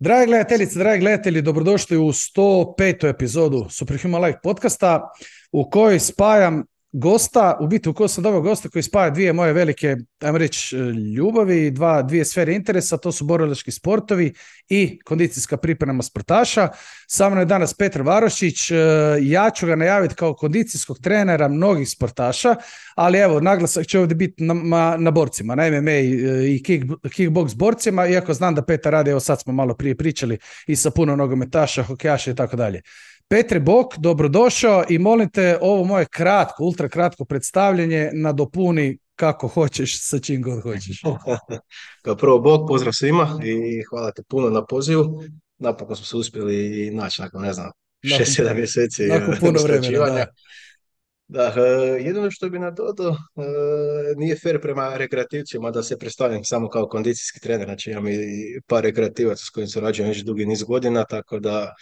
Dragi gledateljice, dragi gledatelji, dobrodošli u 105. epizodu Superhuman Life podcasta u kojoj spajam gosta, u biti u kojoj sam doveo gosta koji spaja dvije moje velike, ajmo reći, ljubavi, dvije sfere interesa, to su borilački sportovi i kondicijska priprema sportaša. Sa mnom je danas Petar Varošić, ja ću ga najaviti kao kondicijskog trenera mnogih sportaša, ali evo, naglasak će ovdje biti na borcima, na MMA i kickbox borcima, iako znam da Petar radi, evo sad smo malo prije pričali i sa puno nogometaša, hokejaša i tako dalje. Petre Bok, dobrodošao i molim te ovo moje kratko, ultra kratko predstavljanje nadopuni kako hoćeš, sa čim god hoćeš. Kao prvo, Bog, pozdrav svima i hvala ti puno na pozivu. Napokon smo se uspjeli naći nakon, ne znam, Nakon, 6-7 mjeseci nakon puno vremena, usklađivanja. da. Da, jedino što bi nadodao, nije fair prema rekreativcima da se predstavljam samo kao kondicijski trener, znači imam i par rekreativaca s kojim surađujem već dugi niz godina, tako da,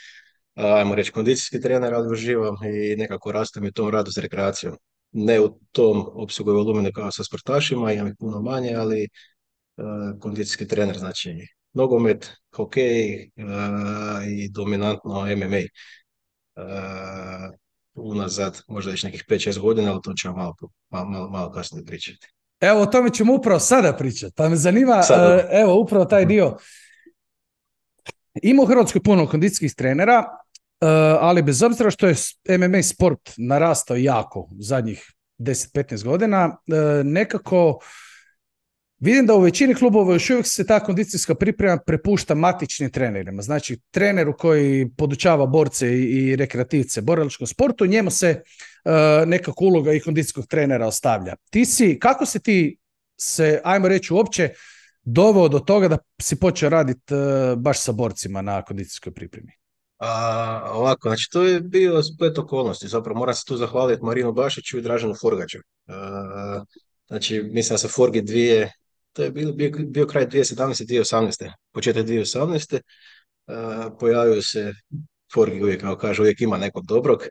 ajmo reći, kondicijski trener, ali uživam i nekako rastem u tom radu s rekreacijom. Ne u tom opsegu i volumenu kao sa sportašima, imam ih puno manje, ali kondicijski trener, znači nogomet, hokej i dominantno MMA. Unazad možda već nekih 5-6 godina, ali to ćemo malo kasnije pričati. Evo, o tome ćemo upravo sada pričati, pa me zanima, Sada. evo, upravo taj dio. Ima u Hrvatskoj puno kondicijskih trenera, ali bez obzira što je MMA sport narastao jako u zadnjih 10-15 godina, nekako vidim da u većini klubova još uvijek se ta kondicijska priprema prepušta matičnim trenerima. Znači, treneru koji podučava borce i rekreativce borilačkom sportu, njemu se nekako uloga i kondicijskog trenera ostavlja. Kako si ti se, ajmo reći, uopće doveo do toga da si počeo raditi baš sa borcima na kondicijskoj pripremi? Ovako, znači to je bio splet okolnosti, zapravo moram se tu zahvaliti Marinu Bašiću i Draženu Forgaču. Znači, mislim da se Forgi to je bio kraj 2017. 2018. Početak 2018. Pojavio se Forgi uvijek, kao kaže, uvijek ima nekog dobrog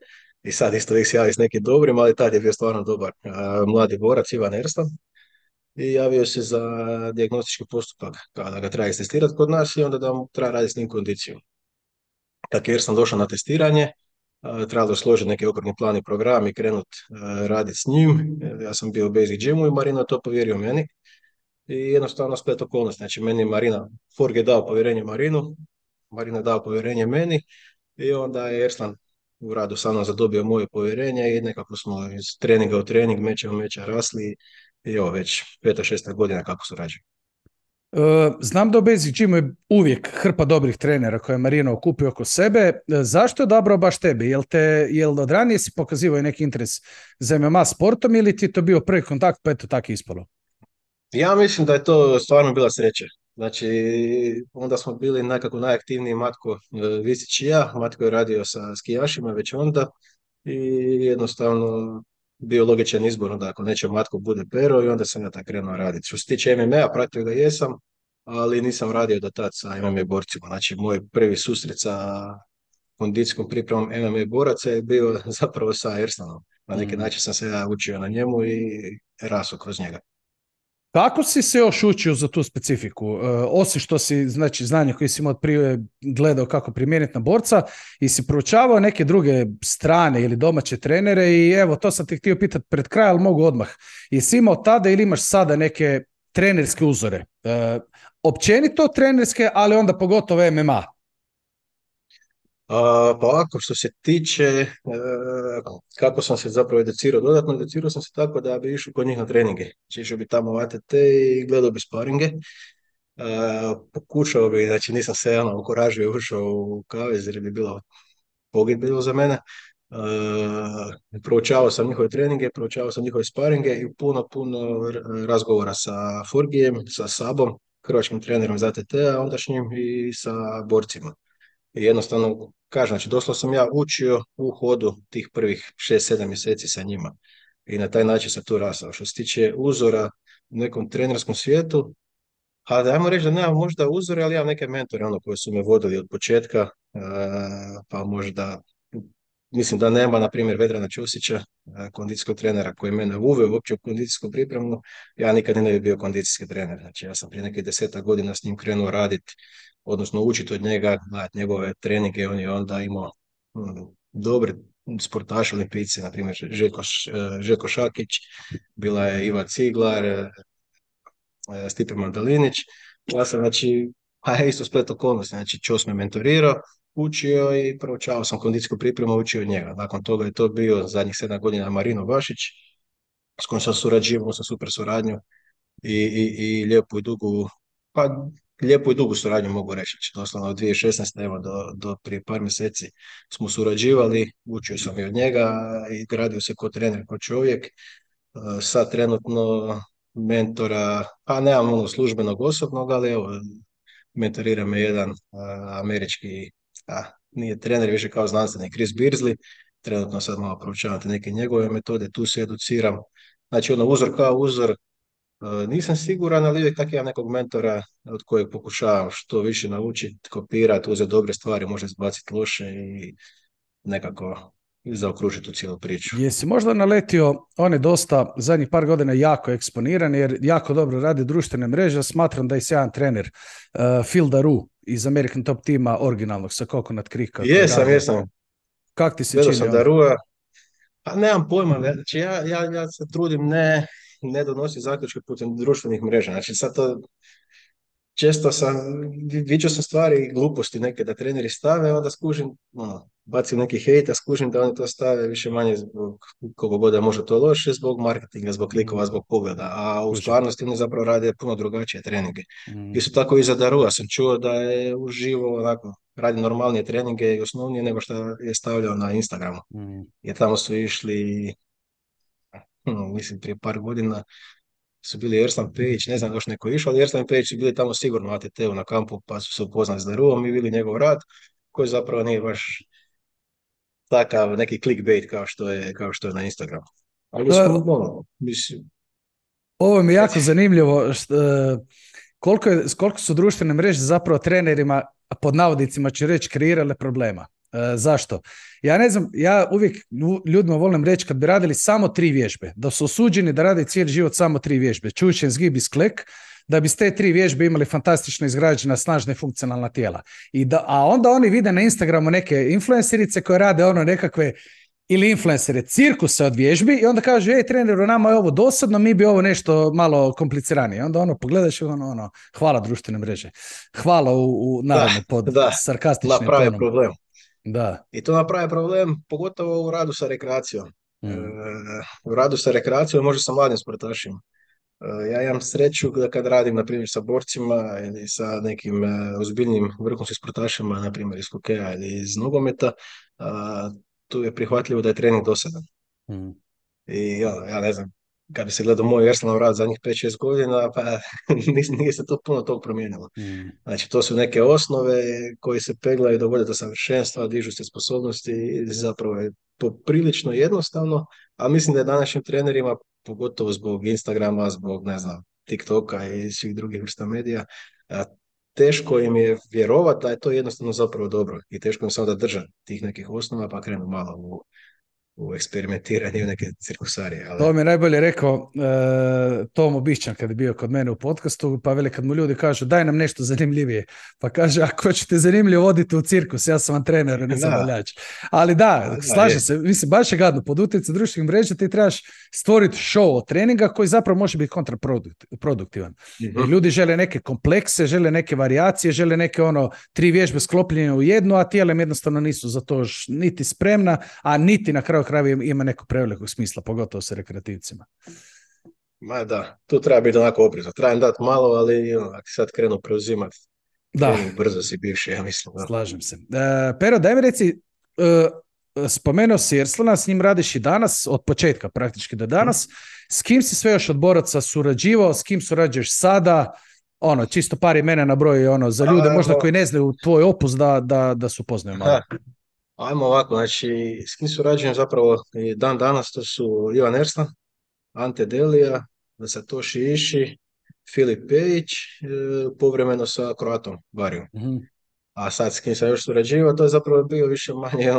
i sad isto uvijek se javi s nekim dobrim, ali tad je bio stvarno dobar mladi borac Ivan Erstan i javio se za dijagnostički postupak kada ga treba istestirati kod nas i onda da mu treba raditi s njim kondiciju. Tako jer sam došao na testiranje, trebalo je složiti neki okvirni plan i program i krenut raditi s njim. Ja sam bio u Basic Gymu i Marina to povjerio meni. I jednostavno splet okolnosti. Znači, meni je Forg je dao povjerenje Marinu, Marina je dao povjerenje meni i onda je Erslan u radu sa mnom zadobio moje povjerenje i nekako smo iz treninga u trening, meča u meča rasli i evo već 5-6 godina kako surađujemo. Znam da u Basic Gymu je uvijek hrpa dobrih trenera koje je Marino okupio oko sebe. Zašto je odabrao baš tebe? Jel od ranije si pokazivao neki interes za MMA sportom ili ti je to bio prvi kontakt pa eto tako ispalo? Ja mislim da je to stvarno bila sreća. Znači, onda smo bili nekako najaktivniji Matko Visić i ja. Matko je radio sa skijašima već onda i jednostavno bio logičan izbor, onda ako neće Matko bude Pero i onda sam ja tako krenuo raditi. Što se tiče MMA-a, pratio ga jesam, ali nisam radio do tad sa MMA borcima. Znači, moj prvi susret sa kondicijskom pripremom MMA boraca je bio zapravo sa Erslanom. Na neki način sam se ja učio na njemu i rasao kroz njega. Kako si se još učio za tu specifiku? Osim što si, znači, znanje koje si imao od prije gledao kako primijeniti na borca i si proučavao neke druge strane ili domaće trenere i evo, to sam te htio pitati pred kraj, ali mogu odmah. Jesi imao tada ili imaš sada neke trenerske uzore? Općenito trenerske, ali onda pogotovo MMA. Pa ovako, što se tiče kako sam se zapravo educirao, dodatno educirao sam se tako da bi išao kod njih na treninge. Znači išao bi tamo u ATT i gledao bi sparinge. Pokušao bi, znači nisam se okuražio i ušao u kavez jer bi bilo pogibelo za mene. Proučavao sam njihove treninge, proučavao sam njihove sparinge i puno razgovora sa Forgijem, sa Sabom, hrvatskim trenerom za ATT-a, ondašnjim i sa borcima. I jednostavno, kažem, znači doslovno sam ja učio u hodu tih prvih 6-7 mjeseci sa njima. I na taj način sam tu rastao. Što se tiče uzora u nekom trenerskom svijetu, a dajmo reći da nemam možda uzore, ali imam neke mentore koji su me vodili od početka, pa možda mislim da nema, na primjer, Vedrana Ćosića, kondicijskog trenera koji je mene uveo uopće u kondicijsku pripremu. Ja nikad ne bi bio kondicijski trener. Znači, ja sam prije nekih 10 godina s njim krenuo raditi, odnosno učiti od njega, gledati njegove treninge. On je onda imao dobri sportaši olimpijci, na primjer Željko Šakić, bila je Iva Ciglar, Stipe Mandalinić. Ja sam, znači, a isto splet okolnosti, znači Ćos me mentorirao, učio i proučavao sam kondicijsku pripremu, učio od njega. Nakon toga je to bio zadnjih 7 godina Marino Bašić, s kojim sam surađivao, sam super suradnju i lijepu i dugu, pa lijepu i dugu suradnju mogu reći. Znači, doslovno od 2016. evo do prije par mjeseci smo surađivali, učio sam i od njega i gradio se kao trener, kao čovjek. Sad trenutno mentora, pa nemam ono službenog osobnog, ali evo, mentorira me jedan američki, nije trener, više kao znanstvenik, Chris Beardsley. Trenutno sad malo proučavam te neke njegove metode, tu se educiram. Znači ono, uzor kao uzor, nisam siguran, ali uvijek tako imam nekog mentora od kojeg pokušavam što više naučiti, kopirati, uzeti dobre stvari, možda izbaciti loše i nekako zaokružiti tu cijelu priču. Jesi možda naletio, on je dosta zadnjih par godina jako eksponiran jer jako dobro radi društvene mreže, smatram da je sjajan trener Phil Daru iz American Top tima originalnog sa Coconut Creeka. Jesam. Kak ti se Gledao čini sam ono? Darua, pa nemam pojma, znači ja se trudim ne donositi zaključke putem društvenih mreža, znači sad to često viđao sam stvari i gluposti neke da treneri stave, onda skužim, bacim neki hejt, a skužim da oni to stave više manje zbog koliko god da može to loše, zbog marketinga, zbog klikova, zbog pogleda, a u stvarnosti oni zapravo rade puno drugačije treninge. Isto tako i za Darua sam čuo da je uživo onako, radi normalnije treninge i osnovnije nego što je stavljao na Instagramu. Jer tamo su išli, mislim prije par godina, su bili Erslan Pejić, ne znam još neko išao, ali Erslan Pejić su bili tamo sigurno ATT-u na kampu, pa su se upoznali s Daruom i bili njegov rad, koji zapravo nije baš takav neki clickbait kao što je na Instagramu. Ali smo, mislim... Ovo mi je jako zanimljivo, koliko su društvene mreže zapravo trenerima, pod navodnicima ću reći, kreirale problema. Zašto? Ja ne znam, ja uvijek ljudima volim reći kad bi radili samo 3 vježbe, da su osuđeni da rade cijeli život samo 3 vježbe, čučen, zgib i sklek, da bi s te 3 vježbe imali fantastično izgrađena, snažna i funkcionalna tijela. A onda oni vide na Instagramu neke influencerice koje rade ono nekakve ili influencere cirkuse od vježbi i onda kažu, treneru, nama je ovo dosadno, mi bi ovo nešto malo kompliciranije. Onda pogledaš i hvala društvene mreže. Hvala naravno pod sarkastičnim napravi tonom. Problem. Da. I to napravi problem, pogotovo u radu sa rekreacijom. U radu sa rekreacijom može sa mladim sportašima. Ja imam sreću da kad radim, na primjer, sa borcima ili sa nekim ozbiljnim vrhunskim sportašima, na primjer iz hokeja ili iz nogometa, tu je prihvatljivo da je trening dosadan. I ja ne znam, kad bi se gledao moj Erslanov rad zadnjih 5-6 godina, pa nije se to puno tog promijenilo. Znači, to su neke osnove koje se peglaju, dovode do savršenstva, dižu se sposobnosti i zapravo je poprilično jednostavno, a mislim da je današnjim trenerima, pogotovo zbog Instagrama, zbog, ne znam, TikToka i svih drugih vrsta medija, teško im je vjerovati da je to jednostavno zapravo dobro i teško im se onda držati tih nekih osnova, pa krenu malo u eksperimentiranje, u neke cirkusarije. Ali... To mi je najbolje rekao Tomo Bišćan kad je bio kod mene u podcastu, pa veli kad mu ljudi kažu daj nam nešto zanimljivije, pa kaže ako ćete zanimljivo voditi u cirkus, ja sam vam trener, ne zabavljač. Ali slažem se, mislim baš je gadno, pod utjecaj društvenih mreža ti trebaš stvoriti show od treninga koji zapravo može biti kontraproduktivan. I ljudi žele neke komplekse, žele neke varijacije, žele neke 3 vježbe sklopljene u jednu, a tijelem jednostavno nisu za to niti spremna, a niti na kraju krajeva ima neko prevelikog smisla, pogotovo sa rekreativcima. Ma da, tu treba biti onako oprezan. Treba im dati malo, ali ako sad krenu preuzimati, brzo si bivši, ja mislim. Da. Slažem se. Pero, daj mi reci, spomenuo si Erslana, s njim radiš i danas, od početka praktički do danas. S kim si sve još od boraca surađivao, s kim surađuješ sada? Čisto par imena na broj, za ljude možda koji ne znaju tvoj opus da su poznaju malo. Ajmo ovako, znači, s kim surađujem zapravo i dan danas, to su Ivan Erslan, Ante Delija, Satoshi Ishi, Filip Pejić, povremeno sa Croatom Varijom. A sad s kim sam još surađivao, to je zapravo bio više manje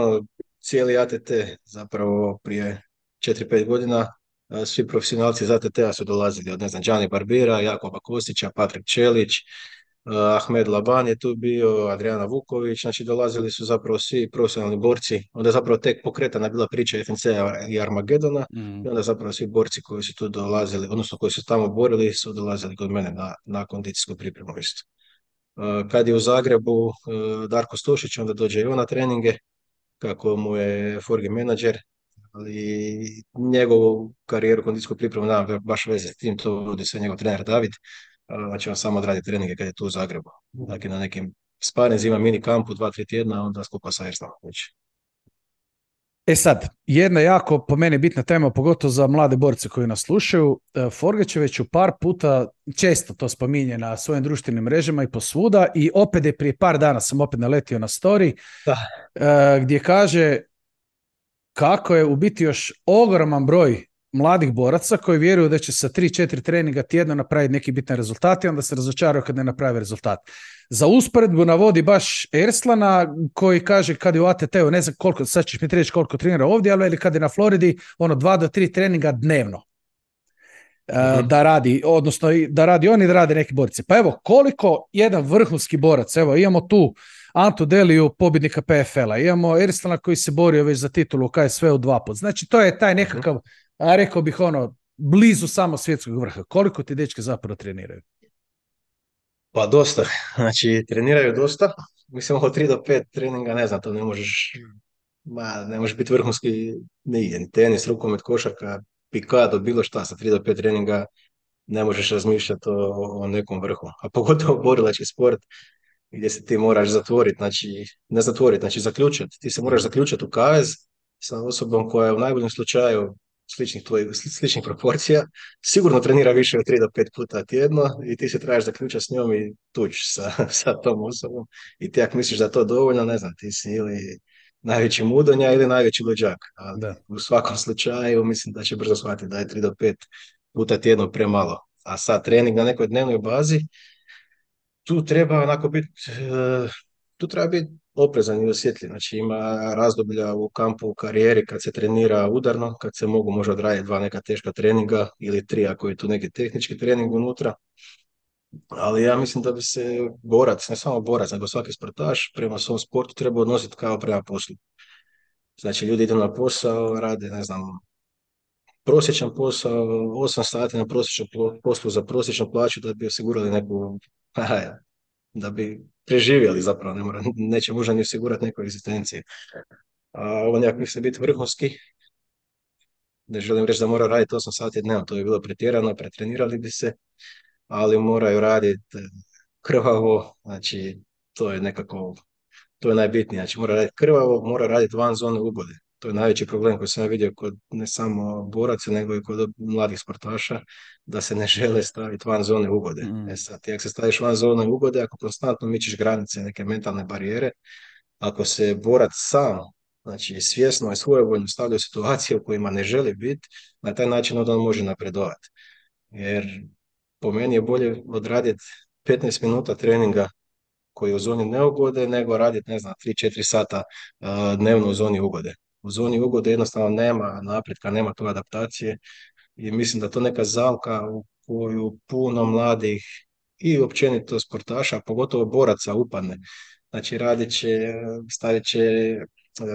cijeli ATT, zapravo prije 4-5 godina, svi profesionalci iz ATT-a su dolazili, od ne znam, Gianni Barbera, Jakoba Kostića, Patrik Čelić, Ahmed Laban je tu bio, Adriana Vuković, znači dolazili su zapravo svi profesionalni borci, onda je zapravo tek pokretana bila priča FNC-a i Armagedona, i Mm. onda zapravo svi borci koji su tu dolazili, odnosno koji su tamo borili, su dolazili kod mene na kondicijsku pripremu isto. Kad je u Zagrebu Darko Stošić, onda dođe i on na treninge, kako mu je Forgi menadžer, ali njegovu karijeru kondicijsku pripremu nema baš veze s tim, to vodi sve njegov trener David, znači on samo odradi treninge kad je tu u Zagrebu. Dakle, na nekim sparinzima, mini kampu, 2-3 tjedna, onda skupa sa Erslom. E sad, jedna jako po meni bitna tema, pogotovo za mlade borce koji nas slušaju. Forgać je već u par puta, često to spominje na svojim društvenim mrežama i posvuda, i opet je prije par dana sam opet naletio na story, Da. gdje kaže kako je u biti još ogroman broj mladih boraca koji vjeruju da će sa 3-4 treninga tjedno napraviti neki bitan rezultat i onda se razočaraju kad ne naprave rezultat. Za usporedbu navodi baš Erslana koji kaže kad je u ATT-u, ne znam koliko, sad ćeš mi reći koliko trenira ovdje, ali kad je na Floridi, 2 do 3 treninga dnevno. Da radi, odnosno da radi on i da rade neki borci. Pa evo, koliko jedan vrhunski borac, evo imamo tu Antu Deliju, pobjednika PFL-a, imamo Erslana koji se borio već za titulu u KSV-u 2 put. Znači to je taj nekakav, rekao bih blizu samo svjetskog vrha. Koliko ti dečke zapravo treniraju? Pa dosta, znači treniraju dosta, mislim od 3 do 5 treninga, ne znam, to ne možeš, ne može biti vrhunski, ni tenis, rukomet, košarka, pikado, bilo šta, sa 3 do 5 treninga ne možeš razmišljati o nekom vrhu, a pogotovo borilački sport gdje se ti moraš zatvoriti, znači, ne zatvoriti, znači zaključati, ti se moraš zaključati u kavez sa osobom koja je u najboljem slučaju sličnih proporcija, sigurno trenira više od 3 do 5 puta tjedno i ti se trebaš zaključati s njom i tući sa tom osobom i ti ako misliš da je to dovoljno, ne znam, ti si ili najveći mudonja ili najveći luđak, ali Da. u svakom slučaju mislim da će brzo shvatiti da je 3 do 5 puta tjedno premalo. A sad trening na nekoj dnevnoj bazi, tu treba onako biti, tu treba biti oprezan i osjetljiv. Znači ima razdoblja u kampu u karijeri kad se trenira udarno, kad se mogu možda odraditi 2 neka teška treninga ili 3 ako je tu neki tehnički trening unutra. Ali ja mislim da bi se borac, ne samo borac, nego svaki sportaš prema svom sportu treba odnositi kao prema poslu. Znači ljudi idu na posao, rade, ne znam, prosječan posao, 8 sati na prosječnom poslu za prosječnu plaću da bi osigurali neku, da bi preživjeli zapravo, neće možda ni osigurati neku egzistenciju. A on ako se biti vrhunski, ne želim reći da mora raditi 8 sati dnevno, to je bilo pretjerano, pretrenirali bi se, ali moraju raditi krvavo, znači to je nekako, to je najbitnije, znači mora raditi krvavo, mora raditi van zone ugode. To je najveći problem koji sam ja vidio kod ne samo boraca, nego i kod mladih sportaša, da se ne žele staviti van zone ugode. E sad, ti ako se staviš van zone ugode, ako konstantno mičiš granice, neke mentalne barijere, ako se borac sam, znači svjesno i svojevoljno stavlja u situacije u kojima ne želi biti, na taj način onda on može napredovati. Jer po meni je bolje odraditi 15 minuta treninga koji je u zoni neugode, nego raditi, ne znam, 3-4 sata dnevno u zoni ugode. U zoni ugode jednostavno nema napretka, nema tu adaptacije i mislim da to neka zamka u koju puno mladih i općenito sportaša, a pogotovo boraca upadne. Znači stavit će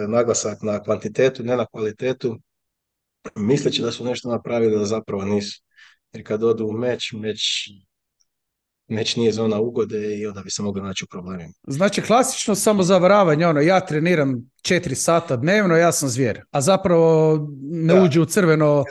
naglasak na kvantitetu, ne na kvalitetu, misleći da su nešto napravili, da zapravo nisu. Jer kad odu u meč nije zona ugode i onda bi se mogli naći u problemima. Znači klasično samozavaravanje, ja treniram 4 sata dnevno, ja sam zvijer, a zapravo ne uđe u crveno.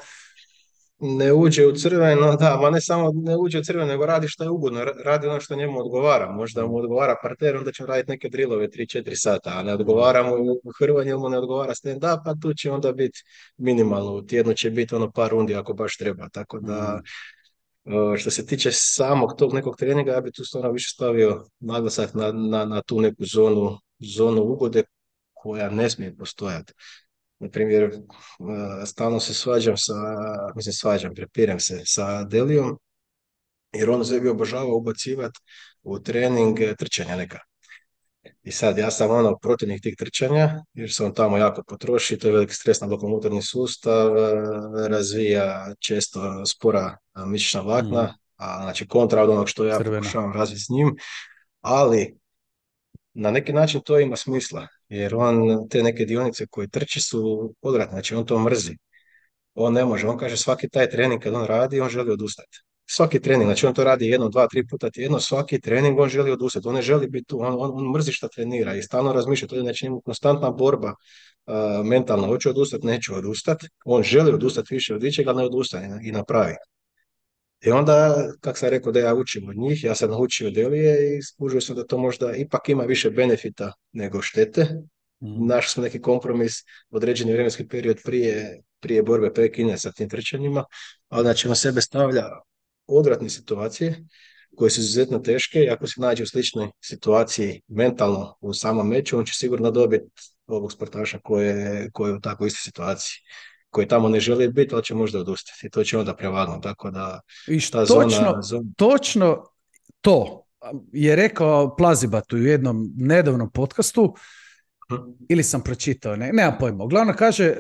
Ne uđe u crveno, da, ma ne samo ne uđe u crveno, nego radi što je ugodno, radi ono što njemu odgovara. Možda mu odgovara parter, onda će raditi neke drillove 3-4 sata, a ne odgovara mu hrvanje, ili mu ne odgovara stand-up, pa tu će onda biti minimalno, u tjednu će biti par rundi ako baš treba. Tako da, što se tiče samog tog nekog treninga, ja bi tu stvarno više stavio naglasak na tu neku zonu ugode koja ne smije postojati. Na primjer, stalno se prepirem se sa Delijom, jer on sebi obožava ubacivati u trening trčanja neka. I sad ja sam protivnik tih trčanja, jer se on tamo jako potroši, to je veliki stres na lokomotorni sustav, razvija često spora mišićna Mm, vlakna, a znači kontra od onog što ja crvena. pokušavam razviti s njim, ali na neki način to ima smisla, jer on te neke dionice koje trči su odvratne, znači on to mrzi. On ne može, on kaže svaki taj trening kad on radi, on želi odustati. Svaki trening, znači on to radi jedno, dva, tri puta tjedno, svaki trening on želi odustati, on ne želi biti tu, on mrzi šta trenira i stalno razmišlja, to je znači njemu konstantna borba mentalna, hoću odustati, neću odustati, on želi odustati više od ičega, ali ne odustane i napravi. I onda, kako sam rekao da ja učim od njih, ja sam naučio od Elije i skužio sam da to možda ipak ima više benefita nego štete. Mm, Našli smo neki kompromis, određeni vremenski period prije borbe prekine sa tim trčanjima, ali znači on sebe stavlja odvratne situacije koje su izuzetno teške i ako se nađe u sličnoj situaciji mentalno u samom meču, on će sigurno dobiti ovog sportaša koje je u takvoj istoj situaciji, koji tamo ne želi biti, ali će možda odustati i to će onda prevagnuti, tako da I ta točno, zona... točno to je rekao Plazibatu u jednom nedavnom podcastu, ili sam pročitao, nemam pojma. Uglavnom kaže,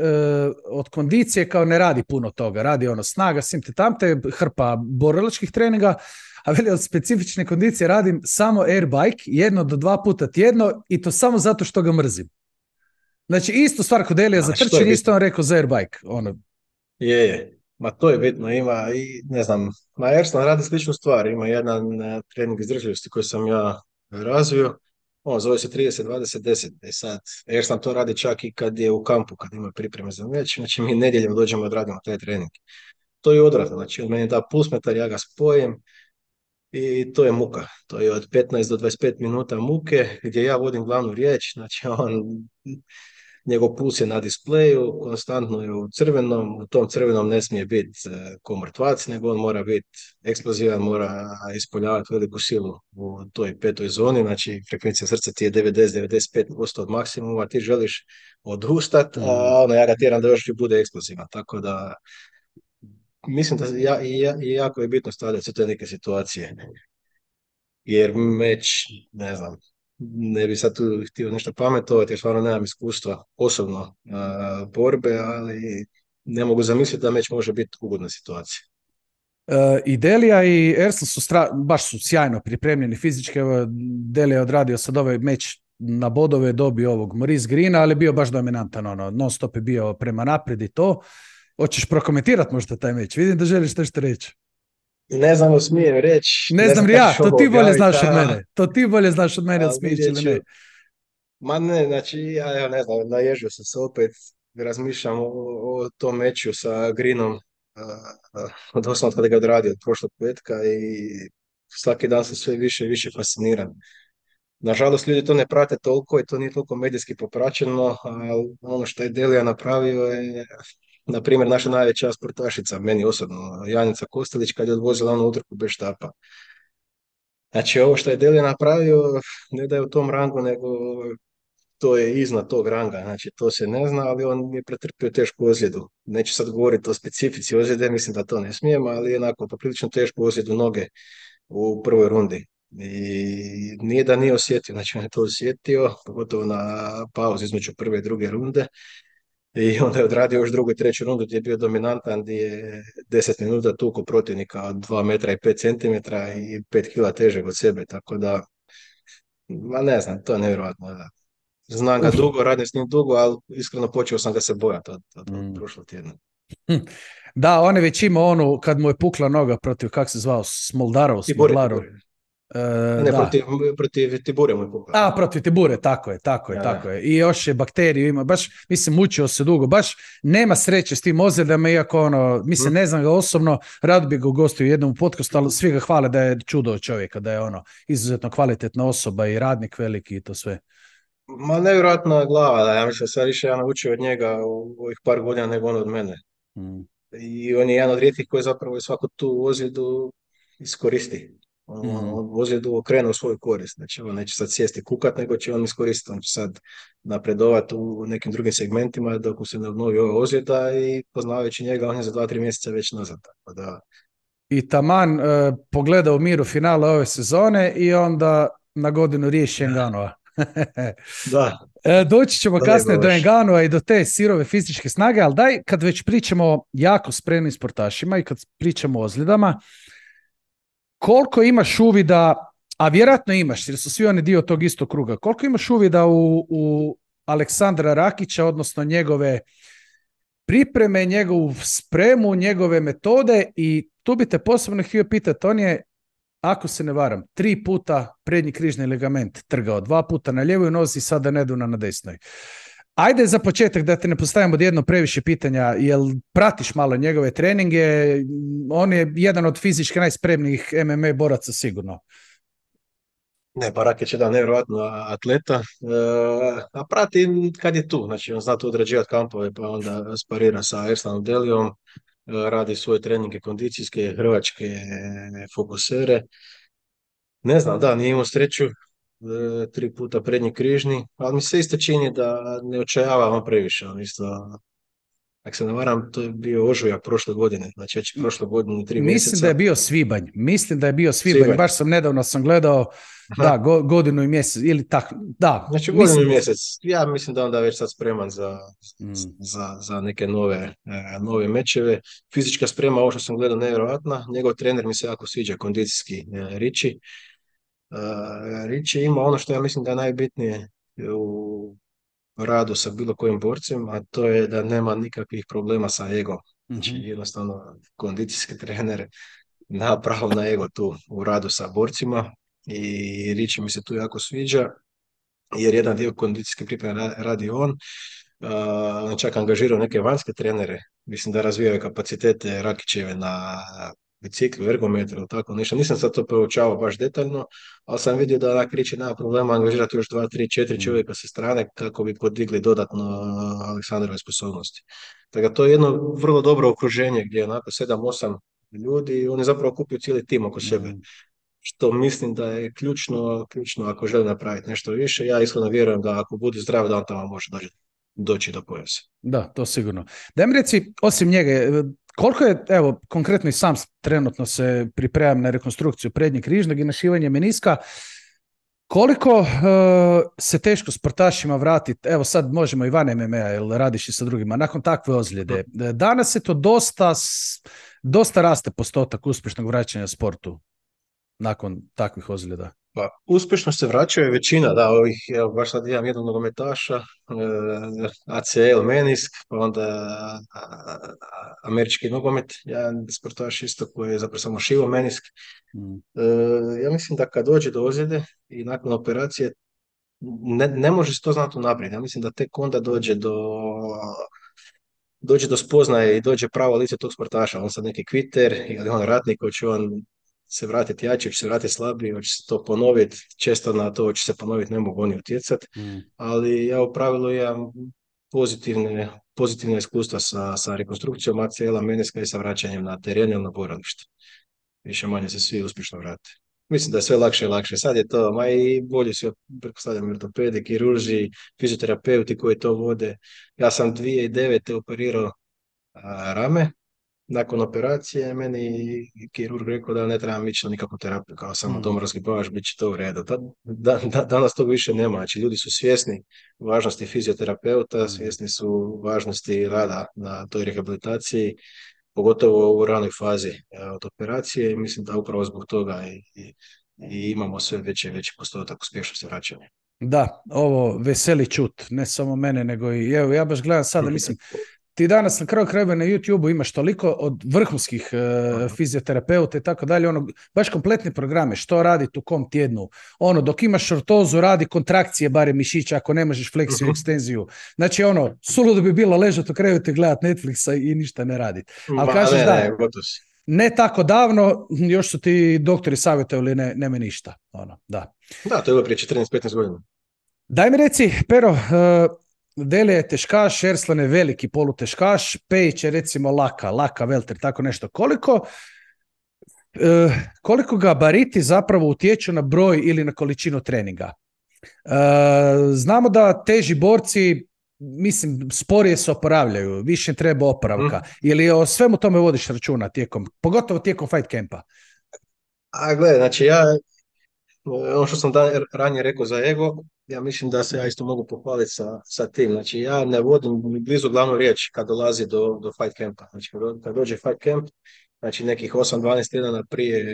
od kondicije kao ne radi puno toga, radi ono snaga, simte tamte, hrpa borilačkih treninga, a veli od specifične kondicije radim samo airbike, 1 do 2 puta tjedno i to samo zato što ga mrzim. Znači isto stvar kod Elija za A što je trčanje, isto bitno? on rekao za airbike. Ono. Je. Ma to je bitno, ima i ne znam, ma Ersan radi sličnu stvar, ima jedan trening izdržljivosti koji sam ja razvio, on zove se 30-20-10, i sad Ersan to radi čak i kad je u kampu, kad ima pripreme za meč, znači mi nedjeljom dođemo i odradimo taj trening. To je odvratno, znači on meni da pulsmetar, ja ga spojim i to je muka, to je od 15 do 25 minuta muke gdje ja vodim glavnu riječ, znači njegov puls je na displeju, konstantno je u crvenom, u tom crvenom ne smije biti ko mrtvac, nego on mora biti eksplozivan, mora ispoljavati veliku silu u toj petoj zoni, znači frekvencija srca ti je 90-95% od maksimuma, ti želiš odustat, Mm. a ono ja ga tjeram da još bude eksplozivan, tako da mislim da jako je bitno stavljati se te neke situacije, jer meč, ne znam, ne bi sad tu htio nešto pametovati, jer stvarno nemam iskustva osobno borbe, ali ne mogu zamisliti da meč može biti ugodna situacija. I Delija i Ersan su baš su sjajno pripremljeni fizički. Evo, Delija je odradio sad ovaj meč na bodove, dobio ovog Maurice Greena, ali bio baš dominantan, ono, non stop je bio prema naprijed i to. Hoćeš prokomentirati možda taj meč? Vidim da želiš nešto reći. Ne znam, smijem reći, Ne ne znam znam ni kako ja, ću to ovo ti bolje objaviti, znaš od mene. To ti bolje znaš od mene, da ali smiješ vidjet ili ću. ne. Ma ne, znači, ja evo, ne znam, naježio sam se opet, razmišljam o tom meču sa Greenom, doslovno od kada ga odradio od prošlog petka i svaki dan sam sve više i više fasciniran. Nažalost, ljudi to ne prate toliko i to nije toliko medijski popraćeno, ali ono što je Delija napravio je, na primjer, naša najveća sportašica, meni osobno, Janica Kostelić, kad je odvozila onu utrku bez štapa. Znači, ovo što je Delija napravio, ne da je u tom rangu, nego to je iznad tog ranga, znači to se ne zna, ali on je pretrpio tešku ozljedu. Neću sad govoriti o specifici ozljede, mislim da to ne smijem, ali je onako poprilično tešku ozljedu noge u prvoj rundi. I nije da nije osjetio, znači on je to osjetio, pogotovo na pauzi između prve i druge runde. I onda je odradio još drugu i treću rundu gdje je bio dominantan, gdje je 10 minuta tuko protivnika od 2 metra i 5 centimetra i 5 kila težeg od sebe, tako da, ma ne znam, to je nevjerojatno. Da. Znam ga Uf. dugo, radim s njim dugo, ali iskreno počeo sam ga se bojati od Mm. prošlog tjedna. Da, on je već imao onu, kad mu je pukla noga protiv, kak se zvao, Smoldarov. Ne, Da. protiv Tibure mu je pukla. A, protiv Tibure, tako je. I još je bakteriju ima, baš, mislim, mučio se dugo, baš nema sreće s tim ozljedama, iako ono, mislim, ne znam ga osobno, rado bi ga ugostio u jednom podcastu, ali svi ga hvale da je čudo čovjeka, da je ono, izuzetno kvalitetna osoba i radnik veliki i to sve. Ma nevjerojatna glava, da, ja mislim sad više ja naučio od njega u ovih par godina nego on od mene. Mm. I on je jedan od rijetkih koji zapravo svaku tu ozljedu iskoristi. Mm. On ozljedu okrene u svoju korist. Znači on neće sad sjesti kukat, nego će on iskoristiti. On će sad napredovati u nekim drugim segmentima dok mu se ne obnovi ova ozljeda i poznavajući njega on je za 2-3 mjeseca već nazad. Tako da... I taman pogledao Miru finale ove sezone i onda na godinu riješi Ngannou. Da, Doći ćemo to nije kasnije do baš. Enganua i do te sirove fizičke snage, ali daj, kad već pričamo o jako spremnim sportašima i kad pričamo o ozljedama, koliko imaš uvida, a vjerojatno imaš, jer su svi oni dio tog istog kruga, koliko imaš uvida u Aleksandra Rakića, odnosno njegove pripreme, njegovu spremu, njegove metode, i tu bi te posebno htio pitati, on je, ako se ne varam, 3 puta prednji križni ligament trgao, 2 puta na ljevoj nozi, sada nedavno na desnoj. Ajde za početak da te ne postavimo odjedno previše pitanja, jel pratiš malo njegove treninge? On je jedan od fizički najspremnijih MMA boraca sigurno. Ne, pa Rakić je da nevjerojatno atleta, a prati kad je tu, znači on zna tu odrađivati kampove, pa onda sparira sa Erslanom Delijom, radi svoje treninge kondicijske, hrvačke fokusere. Ne znam, da, nije imao sreću, 3 puta prednji križni, ali mi se isto čini da ne očajava on previše, on isto, ako se ne varam, to je bio ožujak prošle godine, znači već prošle godine 3 mjeseca. Mislim da je bio svibanj, Svibanj. baš sam nedavno gledao, da, Aha. godinu i mjesec, ili tako, da, Znači godinu mislim i da... mjesec. Ja mislim da onda već sad spreman za, Mm, za neke nove mečeve. Fizička sprema, ovo što sam gledao, nevjerojatna. Njegov trener mi se jako sviđa, kondicijski Riči. Riči ima ono što ja mislim da je najbitnije u radu sa bilo kojim borcem, a to je da nema nikakvih problema sa egom. Znači mhm, jednostavno kondicijski trener na pravo na ego tu u radu sa borcima i Riči mi se tu jako sviđa jer jedan dio kondicijske pripreme radi on. On je čak angažirao neke vanjske trenere, mislim da razvijaju kapacitete Rakićeve na biciklu, ergometru ili tako nešto. Nisam sad to proučavao baš detaljno, ali sam vidio da onak Riči nema problema angažirati još 2, 3, 4 mm. čovjeka sa strane kako bi podigli dodatno Aleksandrove sposobnosti. Tako da to je jedno vrlo dobro okruženje gdje je onako 7, 8 ljudi i oni zapravo kupuju cijeli tim oko sebe, Mm. što mislim da je ključno ako želi napraviti nešto više. Ja iskreno vjerujem da ako bude zdrav, da on tamo može doći do pojasa. Da, to sigurno. Daj mi reci, osim njega, koliko je, evo, konkretno i sam trenutno se pripremam na rekonstrukciju prednjeg križnog i našivanje meniska, koliko se teško sportašima vratiti, evo sad možemo i van MMA, jer radiš i sa drugima, nakon takve ozljede. Danas je to dosta raste postotak uspješnog vraćanja sportu nakon takvih ozljeda. Pa, uspješno se vraćaju većina, da, ovih, evo, baš sad imam jednog nogometaša, ACL, menisk, pa onda američki nogomet, jedan sportaš isto koji je zapravo samo šivo menisk. Mm. Ja mislim da kad dođe do ozljede i nakon operacije, ne može se to znati unaprijed. Ja mislim da tek onda dođe do spoznaje i dođe pravo lice tog sportaša. On sad neki kviter ili on ratnik, hoće on se vratiti jači, hoće se vratiti slabiji, hoće se to ponoviti. Često na to hoće se ponoviti, ne mogu oni utjecati. Mm. Ali ja u pravilu imam pozitivne iskustva sa rekonstrukcijom ACL-a, meniska i sa vraćanjem na teren ili na boralište. Više manje se svi uspješno vrate. Mislim da je sve lakše i lakše. Sad je to, ma i bolji su, pretpostavljam, ortopedi, kirurzi, fizioterapeuti koji to vode. Ja sam 2009. operirao rame. Nakon operacije meni kirurg rekao da ne trebam ići na nikakvu terapiju, kao samo dom razgibavaš, bit će to u redu. Danas tog više nema, znači ljudi su svjesni važnosti fizioterapeuta, svjesni su važnosti rada na toj rehabilitaciji, pogotovo u ranoj fazi od operacije i mislim da upravo zbog toga i imamo sve veći i veći postotak uspješnosti vraćanja. Da, ovo veseli čut, ne samo mene, nego i evo, ja baš gledam sada, mislim, ti danas na kraju krajeva na YouTube-u imaš toliko od vrhunskih fizioterapeuta i tako dalje, ono, baš kompletne programe, što raditi u kom tjednu. Ono, dok imaš šortozu, radi kontrakcije barem mišića, ako ne možeš fleksiju, ekstenziju. Znači, ono, suludo bi bilo ležati u krevetu i gledati Netflixa i ništa ne raditi. Ali kažeš ne tako davno, još su ti doktori savjetovali ne ništa. Ono, da. Da, to je bilo prije 14-15 godina. Daj mi reci, Pero, Delija je teškaš, Erslan je veliki poluteškaš, Pejić je recimo laka velter, tako nešto. Koliko gabariti zapravo utječu na broj ili na količinu treninga? Znamo da teži borci, mislim, sporije se oporavljaju, više treba oporavka. Ili o svemu tome vodiš računa pogotovo tijekom fight campa? A gledaj, znači ono što sam ranije rekao za ego, ja mislim da se ja isto mogu pohvaliti sa tim. Znači, ja ne vodim ni blizu glavnu riječ kad dolazi do fight campa. Znači, kad dođe fight camp, znači nekih 8-12 tjedana prije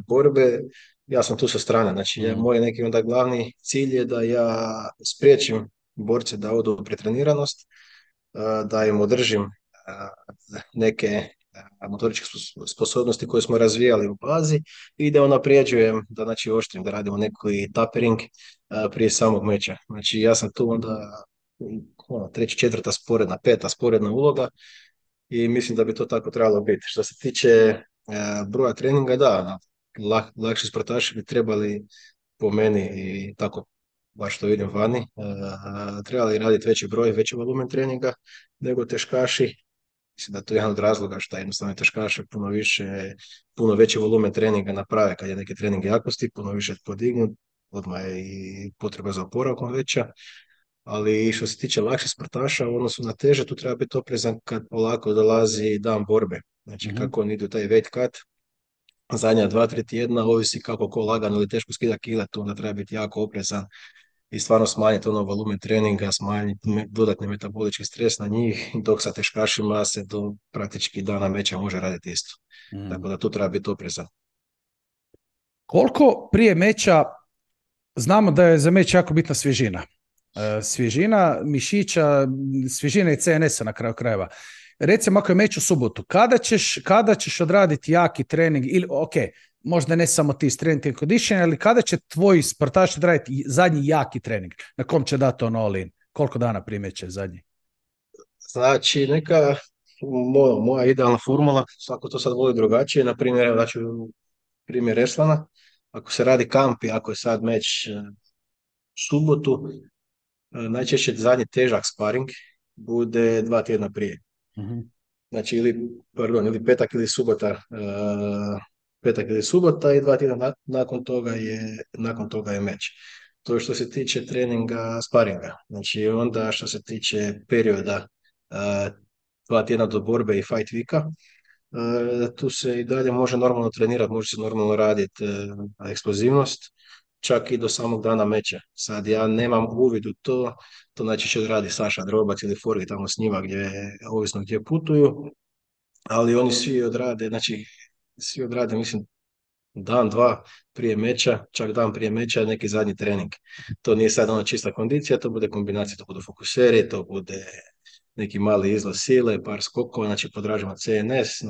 borbe, ja sam tu sa strane. Znači, Mm. moj neki onda glavni cilj je da ja spriječim borce da odu u pretreniranost, da im održim neke motoričke sposobnosti koje smo razvijali u bazi i da unaprijeđujem, da znači oštrim, da radimo neki tapering prije samog meča. Znači ja sam tu onda treća, četvrta sporedna, peta sporedna uloga i mislim da bi to tako trebalo biti. Što se tiče broja treninga, da, lakši sportaši bi trebali po meni i tako baš to vidim vani, trebali raditi veći broj, veći volumen treninga nego teškaši. Mislim da je to jedan od razloga što jednostavno teškaši puno veći volumen treninga naprave kad je neki trening jakosti, puno više podignut, odmah je i potreba za oporavkom veća. Ali što se tiče lakših sportaša u odnosu na teže, tu treba biti oprezan kad polako dolazi dan borbe. Znači Mhm. kako oni idu taj weight cut, zadnja 2-3 tjedna, ovisi kako ko lagano ili teško skida kile, tu onda treba biti jako oprezan i stvarno smanjiti ono volumen treninga, smanjiti dodatni metabolički stres na njih, dok sa teškašima se do praktički dana meča može raditi isto. Mm. Tako da tu treba biti oprezan. Koliko prije meča, znamo da je za meč jako bitna svježina. Svježina mišića, svježina i CNS-a na kraju krajeva. Recimo ako je meč u subotu, kada ćeš odraditi jaki trening ili ok, možda ne samo ti strength and conditioning, ali kada će tvoj sportaš odraditi zadnji jaki trening? Na kom će dati on all in? Koliko dana prije meča je zadnji? Znači, neka moja idealna formula, svako to sad voli drugačije, na primjer, evo daću primjer Eslana, ako se radi kamp i ako je sad meč u subotu, najčešće zadnji težak sparing bude 2 tjedna prije. Mhm. Znači, ili petak ili subota, petak ili subota i 2 tjedna nakon toga je meč. To je što se tiče treninga sparinga. Znači, onda što se tiče perioda 2 tjedna do borbe i fight weeka, tu se i dalje može normalno trenirati, može se normalno raditi eksplozivnost, čak i do samog dana meča. Sad ja nemam uvid u to, to najčešće odradi Saša Drobac ili Forgi tamo s njima ovisno gdje putuju, ali oni svi odrade, mislim, dan, dva prije meča, čak dan prije meča neki zadnji trening. To nije sad ona čista kondicija, to bude kombinacija, to budu fokuseri, to bude neki mali izlaz sile, par skokova, znači podražimo CNS,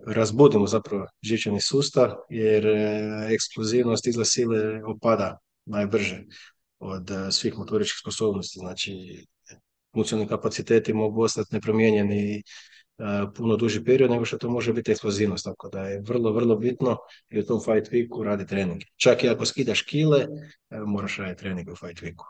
razbudimo zapravo živčani sustav, jer eksplozivnost izlaz sile opada najbrže od svih motoričkih sposobnosti, znači funkcionalni kapaciteti mogu ostati nepromijenjeni puno duži period nego što to može biti eksplozivnost, tako da je vrlo, vrlo bitno i u tom fight weeku radi trening. Čak i ako skidaš kile, moraš raditi trening u fight weeku.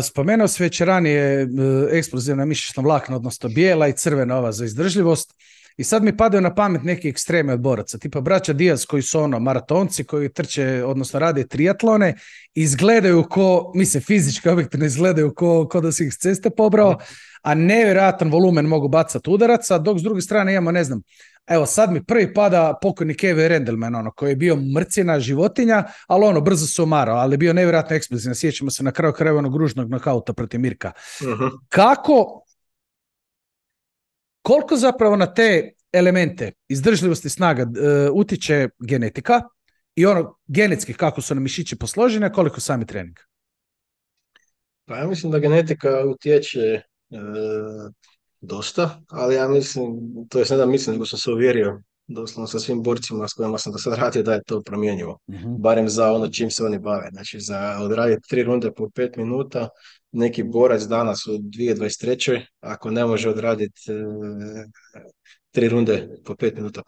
Spomenuo si već ranije eksplozivna mišićna vlakna, odnosno bijela i crvena ova za izdržljivost. I sad mi padaju na pamet neki ekstreme od boraca, tipa braća Diaz koji su maratonci koji trče, odnosno rade triatlone, izgledaju fizički objektivno izgledaju ko da si ih s ceste pobrao, a nevjerojatan volumen mogu bacati udaraca, dok s druge strane imamo, ne znam, evo sad mi prvi pada pokojni Kevin Randleman, koji je bio mrcina životinja, ali brzo se umarao, ali je bio nevjerojatno eksplozivan. Sjećamo se na kraju krajeva onog ružnog nokauta protiv Mirka. Koliko zapravo na te elemente izdržljivosti snaga utiče genetika i genetski kako su nam mišići posloženi, a koliko sami trening? Pa ja mislim da genetika utječe dosta, ali ja mislim, to je ne da mislim, nego sam se uvjerio doslovno sa svim borcima s kojima sam do sad radio da je to promjenjivo. Barem za ono čim se oni bave. Znači za odraditi 3 runde po 5 minuta, neki borac danas u 2023. ako ne može odraditi 3 runde po 5 minuta,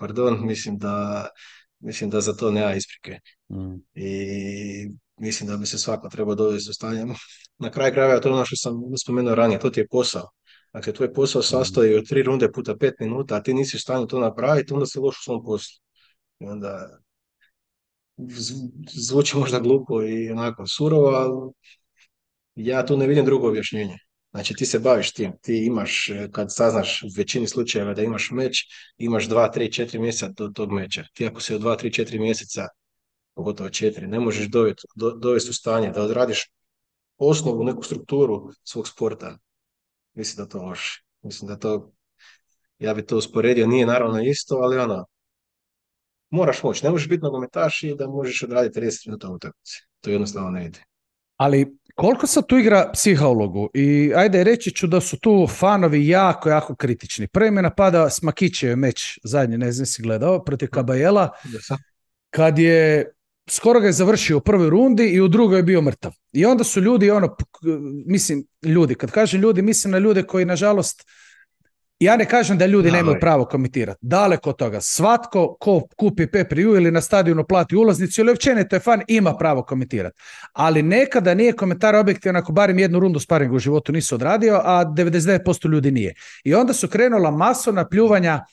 mislim da za to nema isprike. I mislim da bi se svako trebao dovesti u stanje. Na kraju krajeva to je ono što sam spomenuo ranije, to ti je posao. Dakle, tvoj posao sastoji od 3 runde puta 5 minuta, a ti nisi u stanju to napraviti, onda si loš u svom poslu. I onda zvuči možda glupo i onako surovo, ali ja tu ne vidim drugo objašnjenje. Znači ti se baviš tim, ti imaš, kad saznaš u većini slučajeva da imaš meč, imaš 2, 3, 4 mjeseca do tog meča. Ti ako se od 2, 3, 4 mjeseca pogotovo 4, ne možeš dovesti u stanje da odradiš osnovu, neku strukturu svog sporta. Mislim da to možeš. Mislim da to, ja bi to usporedio, nije naravno isto, ali ono, moraš moći. Ne možeš biti nogometaš i da možeš odraditi 30 minuta u utakmici. To jednostavno ne ide. Ali koliko sad tu igra psiha ulogu? I ajde, reći ću da su tu fanovi jako, jako kritični. Prvi me napada Smakićev meč zadnji, ne znam si gledao, protiv Kabajela, kad je skoro ga je završio u prvoj rundi i u drugoj je bio mrtav. I onda su ljudi, mislim, ljudi, kad kažem ljudi, mislim na ljude koji, nažalost, ja ne kažem da ljudi nemaju pravo komentirati. Daleko od toga. Svatko ko kupi pay-per-view ili na stadionu plati ulaznicu ili općenito je fan, ima pravo komentirati. Ali nekada nije komentar objektivan ako barem jednu rundu sparinga u životu nisu odradio, a 99% ljudi nije. I onda su krenula masovna pljuvanja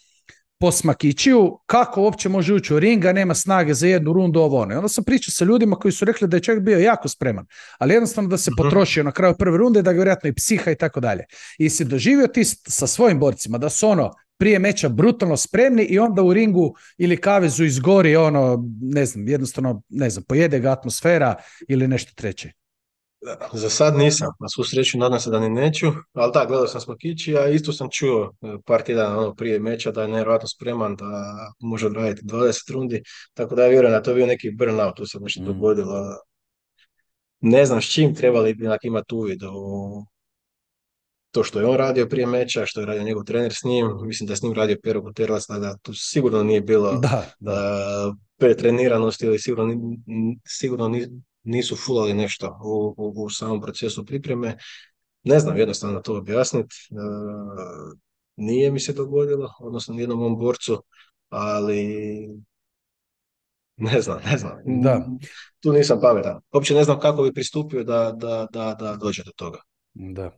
po Smakićiju, kako uopće može ući u ring, a nema snage za jednu rundu ovo ono. I onda sam pričao sa ljudima koji su rekli da je čovjek bio jako spreman, ali jednostavno da se potrošio na kraju prve runde, da ga vjerojatno i psiha i tako dalje. I si doživio ti sa svojim borcima da su prije meča brutalno spremni i onda u ringu ili kavezu izgori jednostavno, pojede ga atmosfera ili nešto treće. Za sad nisam, na svu sreću nadam se da ni neću, ali da, gledao sam Smakići, a isto sam čuo par tjedana prije meča da je nevjerojatno spreman, da može odraditi 20 rundi, tako da ja vjerujem da to bio neki burnout, tu se nešto dogodilo. Ne znam s čim trebali bi imati uvid u to što je on radio prije meča, što je radio njegov trener s njim, mislim da je s njim radio Pero Guterres, da tu sigurno nije bilo pretreniranosti ili sigurno nisu fulali nešto u samom procesu pripreme. Ne znam jednostavno to objasniti. Nije mi se dogodilo, odnosno nijednom mom borcu, ali ne znam. Da. Tu nisam pametan. Uopće ne znam kako bi pristupio da dođe do toga. Da.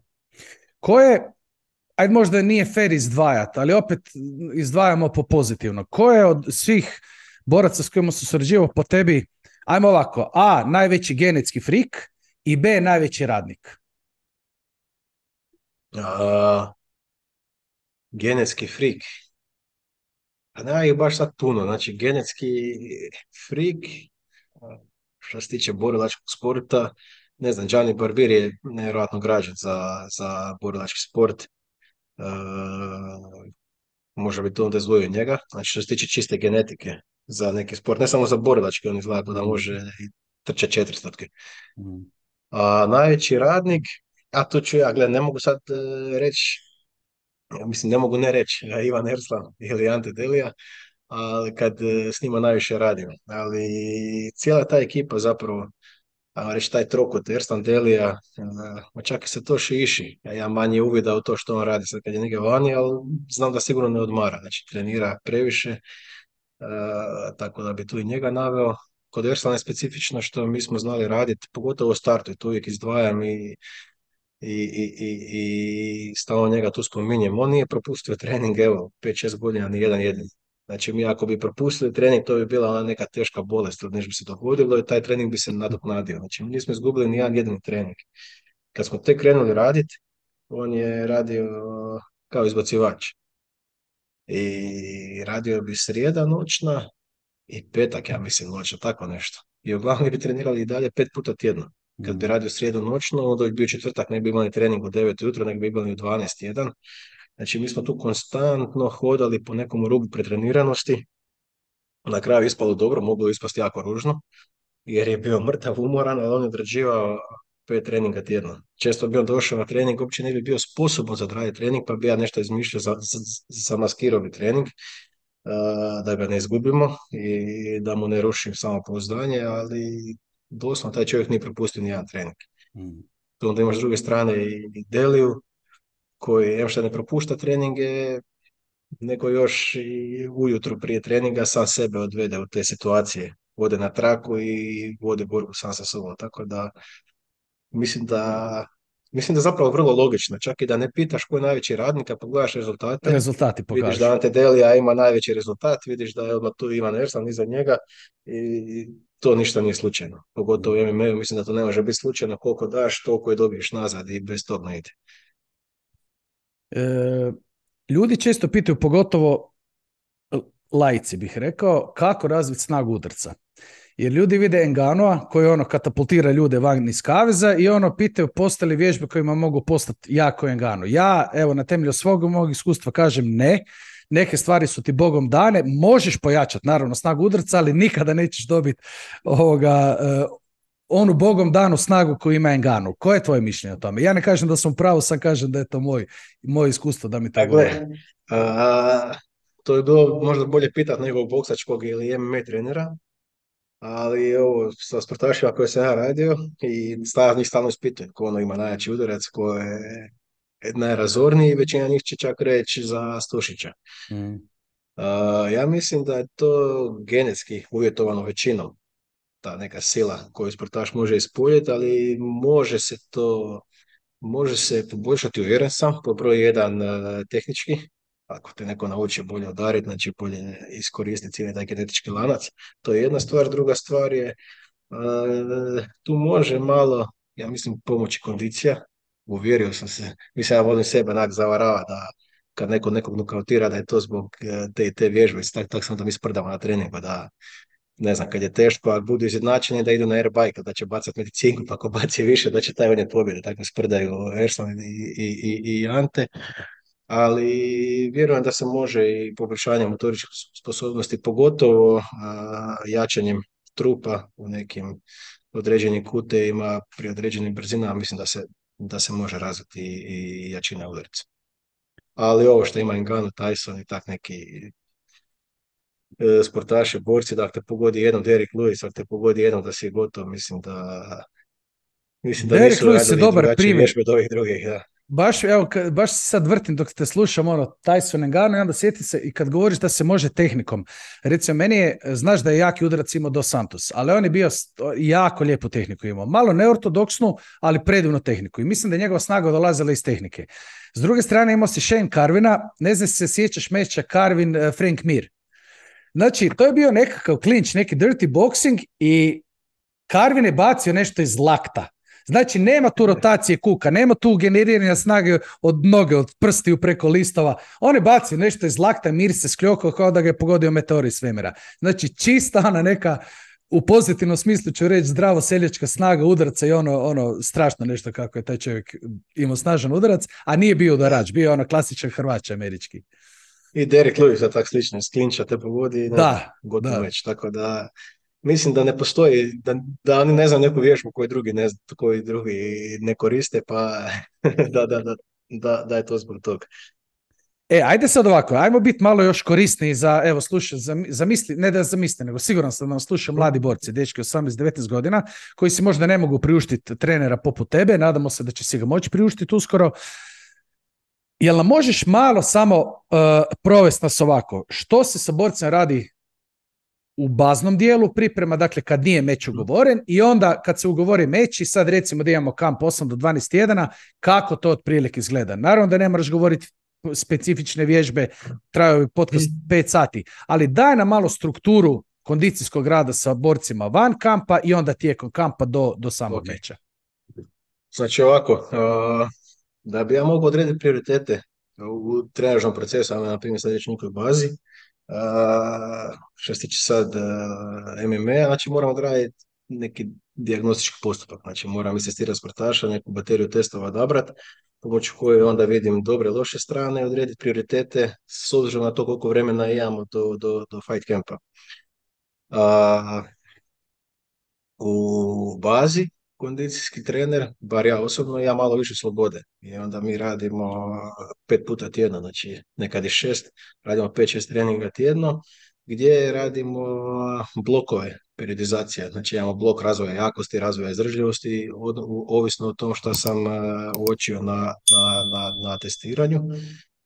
Ko je, ajde možda nije fair izdvajati, ali opet izdvajamo po pozitivno. Ko je od svih boraca s kojima se surađivao po tebi, ajmo ovako, A, najveći genetski frik i B, najveći radnik? Genetski frik. Pa nema ih baš sad puno. Znači, genetski frik, što se tiče borilačkog sporta, ne znam, Gianni Barbir je nevjerojatno građen za borilački sport. Možda bi to onda izdvojio njega. Znači, što se tiče čiste genetike za neki sport, ne samo za borilački, on izgleda da može i trče 400. A najveći radnik, a to ću ja, ne mogu sad reći, mislim, ne mogu ne reći Ivan Erslan ili Ante Delija, ali kad s njima najviše radim. Ali cijela ta ekipa zapravo, ajmo reći, taj trokut Erslan Delija, čak i se to iši. Ja manje uvida u to što on radi sad kad je njega vani, ali znam da sigurno ne odmara. Znači, trenira previše, tako da bi tu i njega naveo. Kod Erslana je specifično što mi smo znali raditi, pogotovo u startu, i to uvijek izdvajam i stalno njega tu spominjem. On nije propustio trening, evo, 5-6 godina, ni jedan jedini. Znači, mi ako bi propustili trening, to bi bila ona neka teška bolest ili nešto bi se dogodilo i taj trening bi se nadoknadio. Znači, mi nismo izgubili ni jedan jedini trening. Kad smo tek krenuli raditi, on je radio kao izbacivač. I radio bi srijeda noćna i petak, ja mislim, noćna, tako nešto. I uglavnom bi trenirali i dalje 5 puta tjedno. Kad bi radio srijedu noćno, onda bi bio četvrtak, ne bi imali trening u 9 ujutro, nego bi imali u 12:01. Znači, mi smo tu konstantno hodali po nekom rubu pretreniranosti. Na kraju ispalo dobro, moglo ispasti jako ružno, jer je bio mrtav, umoran, ali on je odrađivao 5 treninga tjedno. Često bi on došao na trening, uopće ne bi bio sposoban za odraditi trening, pa bi ja nešto izmišljao za maskirovi trening, da ga ne izgubimo i da mu ne rušim samopouzdanje, ali doslovno taj čovjek nije propustio nijedan trening. Tu onda imaš s druge strane i Deliju, koji što ne propušta treninge, nego još i ujutru prije treninga sam sebe odvede u te situacije. Ode na traku i vode borbu sam sa sobom. Tako da mislim da zapravo vrlo logično. Čak i da ne pitaš ko je najveći radnik, a pogledaš rezultate. Rezultati pokažu. Vidiš da Ante Delija ima najveći rezultat, vidiš da je odmah tu Ivan Erslan iza njega i to ništa nije slučajno. Pogotovo u MMA-u mislim da to ne može biti slučajno. Koliko daš, toliko je dobiješ nazad i bez tog ne ide. Ljudi često pitaju, pogotovo laici bih rekao, kako razviti snagu udarca. Jer ljudi vide Enganoa koji ono katapultira ljude van iz kaveza i ono pitaju postoje li vježbe kojima mogu postati jako Engano. Ja, evo, na temelju svog mog iskustva kažem ne. Neke stvari su ti Bogom dane, možeš pojačati naravno snagu udarca, ali nikada nećeš dobiti onu Bogom danu snagu koju ima Engano. Koje je tvoje mišljenje o tome? Ja ne kažem da sam u pravu, sam kažem da je to moj iskustvo da mi to govori. To je bilo možda bolje pitati nekog boksačkog ili MMA trenera, ali ovo sa sportašima koje sam ja radio i njih stalno ispitujem ko ono ima najjači udarac, ko je najrazorniji, većina njih će čak reći za Stušića. Ja mislim da je to genetski uvjetovano većinom, ta neka sila koju sportaš može ispoljiti, ali može se poboljšati, uvjeren sam, po broj jedan tehnički, ako te neko nauči bolje udariti, znači bolje iskoristiti cijeli taj genetički lanac, to je jedna stvar. Druga stvar je, tu može malo, ja mislim, pomoći kondicija. Uvjerio sam se, mislim, ja volim sebe zavarava da kad nekog nokautira da je to zbog te vježbe, tak sam da mi sprdamo na treningu, da ne znam, kad je teško, ako budu izjednačeni da idu na airbike, da će bacati medicinku, pa ako baci više, da će taj on je pobjede, tako sprdaju Erslan i Ante, ali vjerujem da se može i poboljšanjem motoričkih sposobnosti, pogotovo jačanjem trupa u nekim određenim kutevima, pri određenim brzinama, mislim da se može razviti i jačina udarica. Ali ovo što ima Ngannou, Tyson i tak neki sportaši, borci, da te pogodi jednom, Derrick Lewis, ako te pogodi jednom da si gotov, mislim da Derrick nisu Lewis je radili dobar drugačije primjer. vježbe od ovih drugih, da. Baš se sad vrtim dok te slušam Tyson Ngannou i onda sjeti se i kad govoriš da se može tehnikom. Recimo, meni je, znaš da je jaki udarac imao Dos Santos, ali on je bio jako lijepu tehniku imao. Malo neortodoksnu, ali predivnu tehniku. I mislim da je njegova snaga dolazila iz tehnike. S druge strane imao si Shane Carvina, ne znam se sjećaš meča Carvin-Frank Mir. Znači, to je bio nekakav klinč, neki dirty boxing i Carvin je bacio nešto iz lakta. Znači, nema tu rotacije kuka, nema tu generiranja snage od noge, od prstiju preko listova. On je bacio nešto iz lakta, Mir se skljokao kao da ga je pogodio meteor iz svemira. Znači, čista ona neka, u pozitivnom smislu ću reći, zdravo seljačka snaga udaraca i ono strašno nešto kako je taj čovjek imao snažan udarac, a nije bio udarač, bio je ono klasičan Hrvač američki. I Derrick Lewis je tak slično, iz klinča te pogodi, gotovo već, tako da mislim da ne postoji, da oni ne znam neku vježbu koju drugi ne koriste, pa da je to zbog toga. Ajde sad ovako, ajmo biti malo još korisniji za, evo slušaj, zamisli, ne da zamisli, nego siguran sam da nam slušaju mladi borci, dečki 18-19 godina, koji si možda ne mogu priuštiti trenera poput tebe, nadamo se da će si ga moći priuštiti uskoro. Jel nam možeš malo samo provesti nas ovako, što se sa borcima radi u baznom dijelu priprema, dakle kad nije meč ugovoren i onda kad se ugovori meč i sad recimo da imamo kamp 8 do 12 tjedana, kako to otprilike izgleda. Naravno da ne moraš govoriti specifične vježbe, traju podcast 5 sati, ali daj nam malo strukturu kondicijskog rada sa borcima van kampa i onda tijekom kampa do samog meča. Znači ovako, da bi ja mogao odrediti prioritete u trenažnom procesu, na primjer sad reći nekoj bazi, što se tiče sad MMA, znači moramo odraditi neki dijagnostički postupak, znači moram asistirati sportaša, neku bateriju testova odabrati, pomoću koje onda vidim dobre i loše strane, odrediti prioritete s obzirom na to koliko vremena imamo do fight campa. U bazi kondicijski trener, bar ja osobno, ja malo više slobode. I onda mi radimo 5 puta tjedno, znači nekad i 6, radimo 5-6 treninga tjedno, gdje radimo blokove, periodizacija. Znači imamo blok razvoja jakosti, razvoja izdržljivosti, ovisno o tom što sam uočio na testiranju.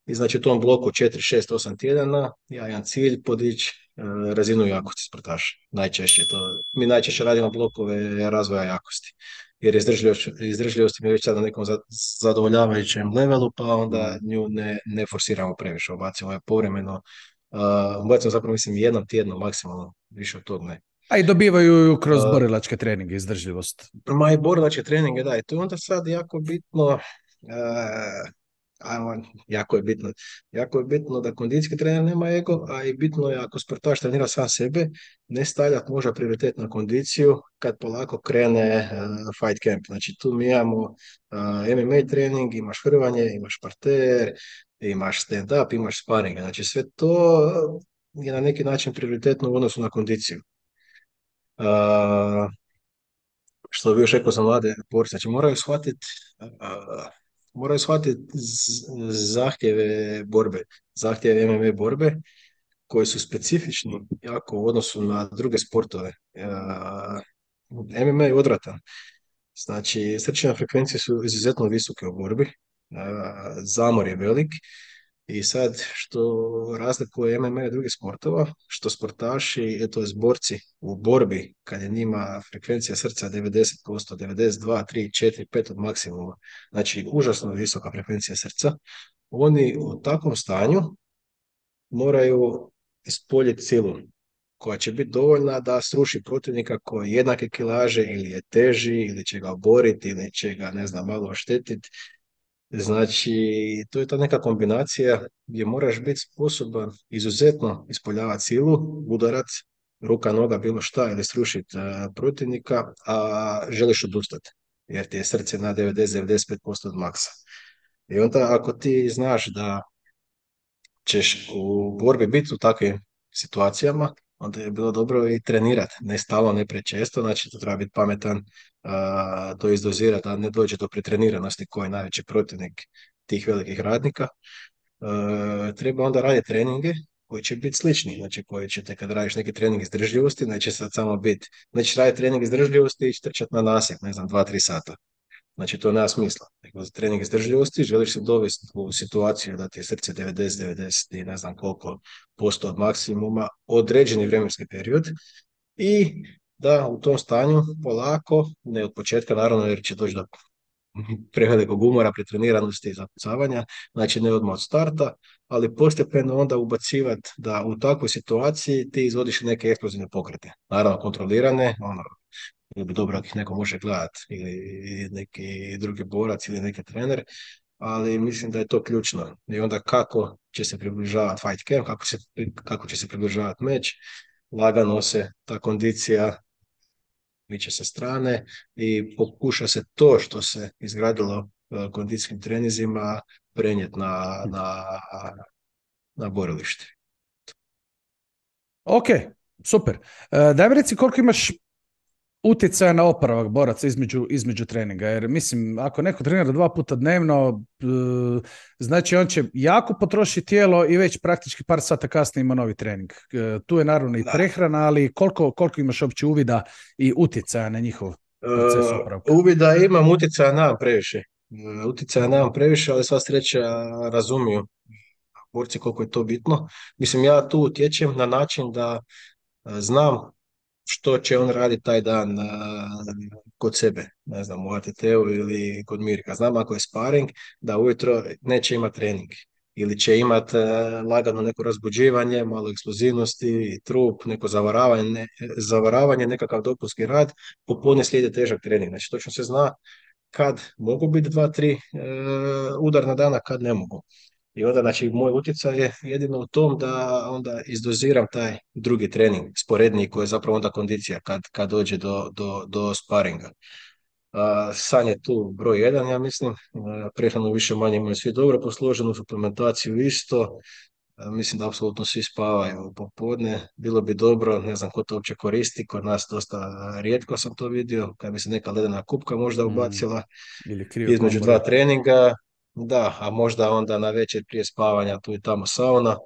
I znači u tom bloku 4, 6, 8 tjedana ja imam cilj podići razinu jakosti sportaša. Mi najčešće radimo blokove razvoja jakosti. Jer izdržljivost mi je već sada na nekom zadovoljavajućem levelu, pa onda nju ne forsiramo previše. Ubacimo je povremeno. Ubacimo zapravo mislim jednom tjedno maksimalno, više od tog ne. A i dobivaju kroz borilačke treninge izdržljivost. I borilačke treninge, da. I to je onda sad jako bitno Jako je bitno. Jako je bitno da kondicijski trener nema ego, a i bitno je ako sportaš trenira sam sebe, ne stavljati možda prioritet na kondiciju kad polako krene fight camp. Znači tu mi imamo MMA trening, imaš hrvanje, imaš parter, imaš stand-up, imaš sparing. Znači sve to je na neki način prioritetno u odnosu na kondiciju. Uh, što bi još rekao za mlade borce, znači moraju shvatiti zahtjeve borbe, zahtjeve MMA borbe koji su specifični jako u odnosu na druge sportove. MMA je odvratan, znači srčane frekvencije su izuzetno visoke u borbi, zamor je velik i sad što razlikuje MMA od drugih sportova, što sportaši, to je borci u borbi, kad je njima frekvencija srca 90%, 92, 3, 4, 5 od maksimuma, znači užasno visoka frekvencija srca, oni u takvom stanju moraju ispoljiti silu koja će biti dovoljna da sruši protivnika koji je jednake kilaže ili je teži ili će ga oboriti ili će ga, ne znam, malo oštetiti. Znači, to je ta neka kombinacija gdje moraš biti sposoban izuzetno ispoljavati silu, udarac, ruka, noga, bilo šta, ili srušiti protivnika, a želiš odustati, jer ti je srce na 90-95% od maksa. I onda ako ti znaš da ćeš u borbi biti u takvim situacijama, onda je bilo dobro i trenirati, ne stalno, ne prečesto, znači to treba biti pametan, to izdozirati, da ne dođe do pretreniranosti koji je najveći protivnik tih velikih radnika. Treba onda raditi treninge koji će biti slični, znači koji ćete kad radiš neki trening izdržljivosti, neće sad samo biti, nećeš raditi trening izdržljivosti i trčati na nasip, ne znam, 2-3 sata. Znači, to nema smisla. Nego za trening izdržljivosti želiš se dovesti u situaciju da ti je srce 90 i ne znam koliko posto od maksimuma, određeni vremenski period i da u tom stanju polako, ne od početka naravno jer će doći do prevelikog umora, pretreniranosti i zapucavanja, znači ne odmah od starta, ali postepeno onda ubacivati da u takvoj situaciji ti izvodiš neke eksplozivne pokrete. Naravno kontrolirane, bilo bi dobro ako ih neko može gledati ili neki drugi borac ili neki trener, ali mislim da je to ključno. I onda kako će se približavati fight camp, kako će se približavati meč, lagano se ta kondicija miče sa strane i pokuša se to što se izgradilo kondicijskim trenizima prenijeti na borilište. Ok, super. Daj mi reci koliko imaš utjecaja na oporavak boraca između treninga, jer mislim, ako neko trenira 2 puta dnevno, znači on će jako potrošiti tijelo i već praktički par sata kasnije ima novi trening. Tu je naravno i prehrana, ali koliko imaš uopće uvida i utjecaja na njihov proces oporavka? Uvida imam, utjecaja nemam previše. Ali sva sreća razumiju borci koliko je to bitno. Mislim, ja tu utječem na način da znam što će on raditi taj dan kod sebe, ne znam, u ATT-u ili kod Mirka. Znam ako je sparing, da ujutro neće imati trening ili će imati lagano neko razbuđivanje, malo eksplozivnosti, trup, neko zavaravanje, nekakav dopunski rad, popodne slijedi težak trening. Znači, točno se zna kad mogu biti 2-3 udarna dana, kad ne mogu. I onda, znači, moj utjecaj je jedino u tom da onda izdoziram taj drugi trening, sporedniji, koji je zapravo onda kondicija kad dođe do sparinga. San je tu broj 1, ja mislim. Prehranu više manje imaju svi dobro posloženu, suplementaciju isto. Mislim da apsolutno svi spavaju popodne. Bilo bi dobro, ne znam ko to uopće koristi, kod nas dosta rijetko sam to vidio, kad bi se neka ledena kupka možda ubacila između 2 treninga. Da, a možda onda na večer prije spavanja tu i tamo sauna,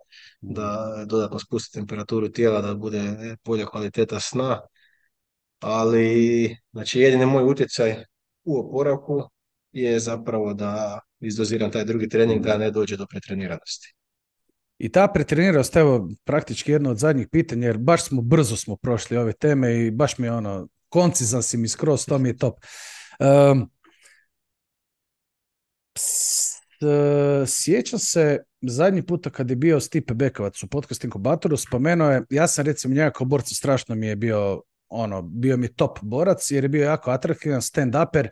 da dodatno spusti temperaturu tijela, da bude bolja kvaliteta sna. Ali, znači, jedini moj utjecaj u oporavku je zapravo da izdoziram taj drugi trening, da ne dođe do pretreniranosti. I ta pretreniranost, evo, praktički jedno od zadnjih pitanja, jer baš brzo smo prošli ove teme i baš mi je koncizan si mi skroz, to mi je top. Sjećam se zadnji puta kad je bio Stipe Bekovac u Podcast Inkubatoru, spomenuo je, ja sam recimo njega kao borca strašno mi je bio mi top borac jer je bio jako atraktivan stand-uper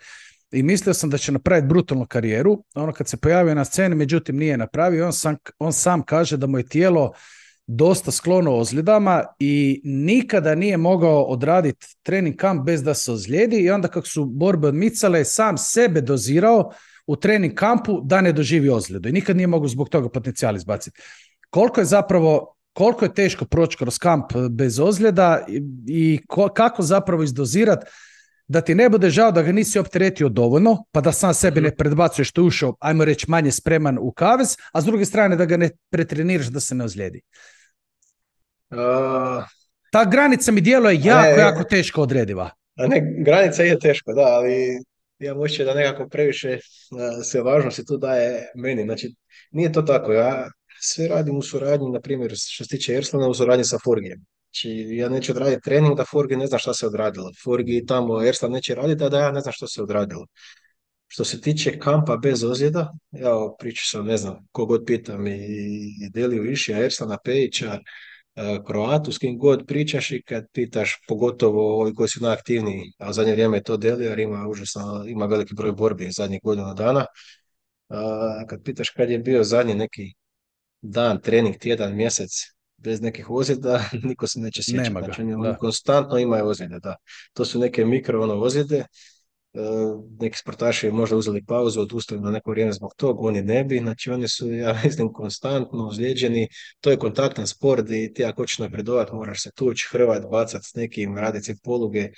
i mislio sam da će napraviti brutalnu karijeru. Ono kad se pojavio na sceni, međutim nije napravio. On sam kaže da mu je tijelo dosta sklono ozljedama i nikada nije mogao odraditi trening kamp bez da se ozlijedi i onda kako su borbe odmicale, sam sebe dozirao u trening kampu da ne doživi ozljedu i nikad nije mogao zbog toga potencijal izbaciti. Koliko je teško proći kroz kamp bez ozljeda i kako zapravo izdozirati da ti ne bude žao da ga nisi opteretio dovoljno, pa da sam sebi ne predbacuješ što je ušao, ajmo reći, manje spreman u kavez, a s druge strane da ga ne pretreniraš da se ne ozlijedi. Ta granica mi djeluje jako teško odrediva. Granica je teško, da, ali ja moću da nekako previše sve važnosti tu daje meni. Znači, nije to tako. Ja sve radim u suradnji, na primjer, što se tiče Erslana, u suradnji sa Forgijem. Znači, ja neću odraditi trening da Forgi ne zna šta se odradilo. Forgi tamo Erslan neće raditi, a da ja ne znam što se odradilo. Što se tiče kampa bez ozljeda, ja pričao sam, ne znam, kogod pitam i Deliju Išija, Erslana Pejića, Kroatu, s kim god pričaš i kad pitaš, pogotovo ovi koji su najaktivniji, a u zadnje vrijeme je to Delija, jer ima veliki broj borbi zadnjih godina dana. Kad pitaš kad je bio zadnji neki dan, trening, tjedan, mjesec, bez nekih ozljeda, niko se neće sjećati. Znači, on konstantno ima ozljede, da. To su neke mikro ozljede. Neki sportaši možda uzeli pauzu, odustali na neko vrijeme zbog tog, oni ne bi, znači oni su, ja mislim, konstantno ozlijeđeni, to je kontaktan sport i ti ako hoćeš napredovati moraš se tući, hrvat, bacat s nekim, raditi poluge.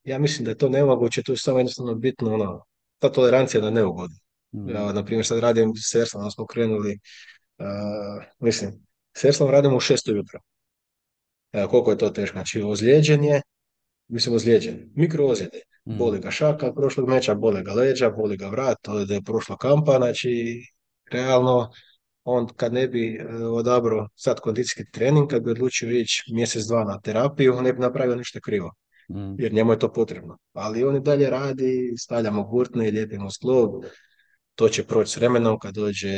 Ja mislim da je to nemoguće, tu je samo jednostavno bitno ta tolerancija na neugodu. Ja, na primjer, sad radim s Erslanom, smo krenuli, s Erslanom radimo u 6 ujutro. Koliko je to teško, znači ozlijeđen, mikro ozljede. Boli ga šaka prošlog meča, boli ga leđa, boli ga vrat, to je prošla kampa, znači realno on kad ne bi odabrao sad kondicijski trening, kad bi odlučio ići mjesec, dva na terapiju, on ne bi napravio ništa krivo, jer njemu je to potrebno. Ali on i dalje radi, stavljamo gurtne i lijepimo sklop, to će proći s vremenom kad dođe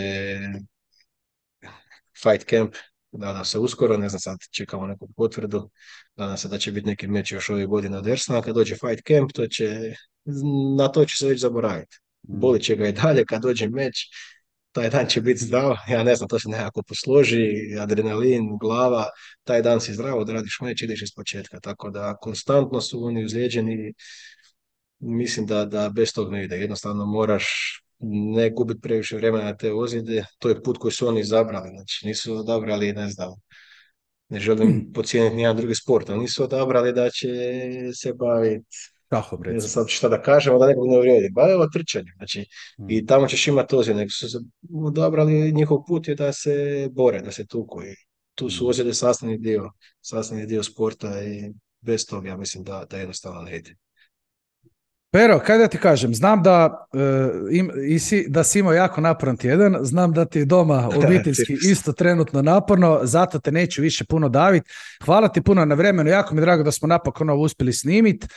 fight camp, nadam se uskoro, ne znam, sad čekamo neku potvrdu, nadam se da će biti neki meč još ove godine od Erslana, kad dođe fight camp, na to će se već zaboraviti. Boli će ga i dalje, kad dođe meč, taj dan će biti zdrav, ja ne znam, to se nekako posloži, adrenalin, glava, taj dan si zdrav, odradiš meč, ideš iz početka, tako da konstantno su oni uzlijeđeni, mislim da bez tog ne ide, jednostavno moraš ne gubiti previše vremena na te ozljede, to je put koji su oni izabrali, znači nisu odabrali, ne znam, ne želim podcijeniti nijedan drugi sport, ali nisu odabrali da će se baviti, ne znam sad šta da kažemo, da nekog ne uvrijedi, evo trčanje, znači, i tamo ćeš imati ozljede, nego su se odabrali, njihov put je da se bore, da se tuku i tu su ozljede sastavni dio sporta i bez toga ja mislim da jednostavno ne ide. Pero, kaj da ti kažem, znam da si imao jako naporan tjedan, znam da ti je doma obiteljski isto trenutno naporno, zato te neću više puno daviti. Hvala ti puno na vremenu, jako mi je drago da smo napokon ovo uspjeli snimiti.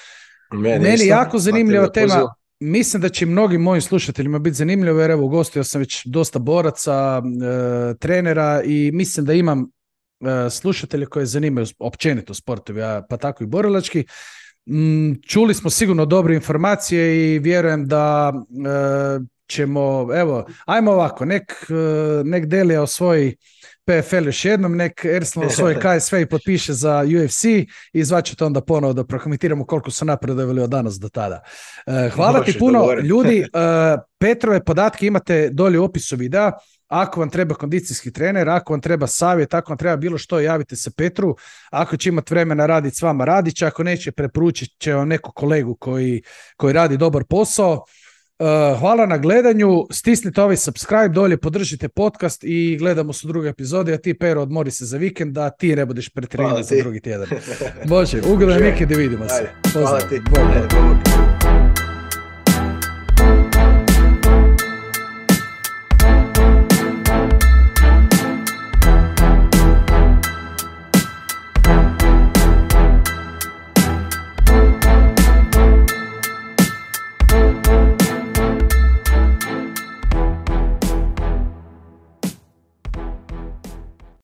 Meni jako zanimljiva tema, mislim da će mnogim mojim slušateljima biti zanimljivo, jer evo ugostio sam već dosta boraca, trenera i mislim da imam slušatelje koje zanimaju općenito sportovi, pa tako i borilački. Čuli smo sigurno dobre informacije i vjerujem da ćemo, evo, ajmo ovako, nek Delija osvoji PFL još jednom, nek Erslan osvoji KSV i potpiše za UFC i zvaćete onda ponovo da prokomentiramo koliko su napredovali od danas do tada. Hvala ti puno, ljudi, Petrove podatke imate dolje u opisu videa. Ako vam treba kondicijski trener, ako vam treba savjet, ako vam treba bilo što, javite se Petru. Ako će imati vremena raditi s vama, radit će. Ako neće, preporučit će vam neku kolegu koji radi dobar posao. Hvala na gledanju. Stisnite ovaj subscribe dolje, podržite podcast i gledamo se u drugoj epizodi. A ti, Pero, odmori se za vikend da ti ne budeš pretreniran za drugi tjedan. Može, ugodan vikend i vidimo se. Hvala ti.